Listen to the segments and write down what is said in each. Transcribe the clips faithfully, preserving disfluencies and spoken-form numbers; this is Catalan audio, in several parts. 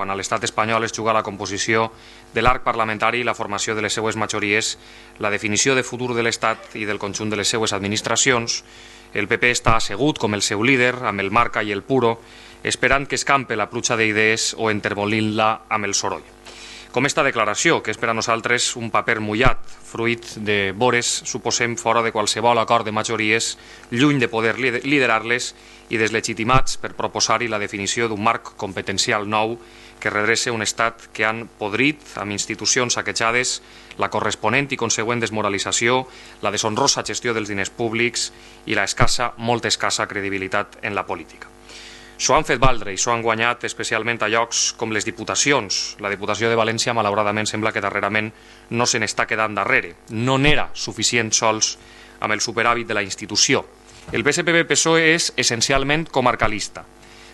quan a l'estat espanyol es juga la composició de l'arc parlamentari i la formació de les seues majories, la definició de futur de l'Estat i del conjunt de les seues administracions, el P P està assegut com el seu líder, amb el marca i el puro, esperant que escampe la pluja d'idees o enterbolint-la amb el soroll. Com esta declaració, que és per a nosaltres un paper mullat, fruit de vores, suposem, fora de qualsevol acord de majories, lluny de poder liderar-les i deslegitimats per proposar-hi la definició d'un marc competencial nou que redrece un estat que han podrit amb institucions saquejades, la corresponent i consegüent desmoralització, la deshonrosa gestió dels diners públics i la escassa, molt escassa credibilitat en la política. S'ho han fet valdre i s'ho han guanyat especialment a llocs com les diputacions. La Diputació de València, malauradament, sembla que darrerament no se n'està quedant darrere. No n'era suficient sols amb el superàvit de la institució. El P S P B-P S O E és essencialment comarcalista.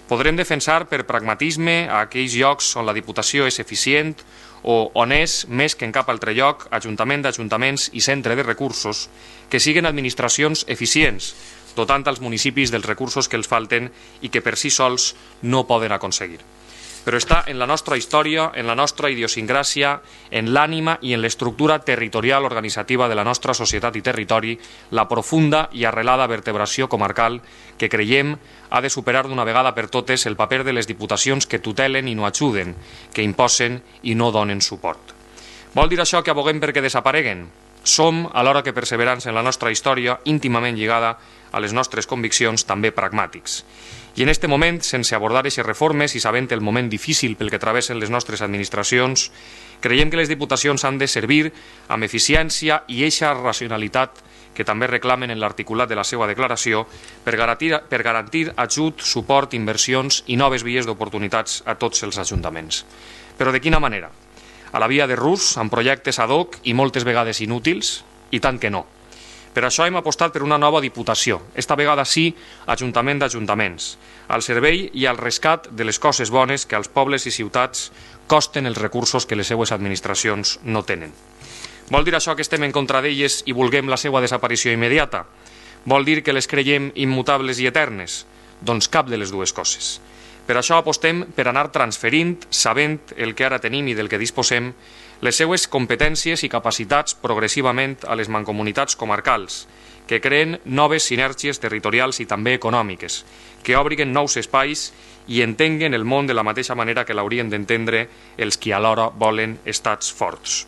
Podrem defensar per pragmatisme a aquells llocs on la Diputació és eficient o on és, més que en cap altre lloc, ajuntament d'ajuntaments i centre de recursos, que siguen administracions eficients, dotant als municipis dels recursos que els falten i que per si sols no poden aconseguir. Però està en la nostra història, en la nostra idiosincràsia, en l'ànima i en l'estructura territorial organitzativa de la nostra societat i territori la profunda i arrelada vertebració comarcal que creiem ha de superar d'una vegada per totes el paper de les diputacions que tutelen i no ajuden, que imposen i no donen suport. Vol dir això que aboguem perquè desapareguen? Som, alhora que perseverants en la nostra història, íntimament lligada a les nostres conviccions, també pragmàtics. I en aquest moment, sense abordar aquestes reformes i sabent el moment difícil pel que travessen les nostres administracions, creiem que les diputacions han de servir amb eficiència i eixa racionalitat que també reclamen en l'articulat de la seva declaració per garantir, per garantir ajut, suport, inversions i noves vies d'oportunitats a tots els ajuntaments. Però de quina manera? A la via de rus, amb projectes ad hoc i moltes vegades inútils? I tant que no. Per això hem apostat per una nova diputació, esta vegada sí, ajuntament d'ajuntaments, al servei i al rescat de les coses bones que als pobles i ciutats costen els recursos que les seues administracions no tenen. Vol dir això que estem en contra d'elles i vulguem la seva desaparició immediata? Vol dir que les creiem immutables i eternes? Doncs cap de les dues coses. Per això apostem per anar transferint, sabent el que ara tenim i del que disposem, les seues competències i capacitats progressivament a les mancomunitats comarcals, que creen noves sinergies territorials i també econòmiques, que obriguen nous espais i entenguen el món de la mateixa manera que l'haurien d'entendre els qui alhora volen estats forts.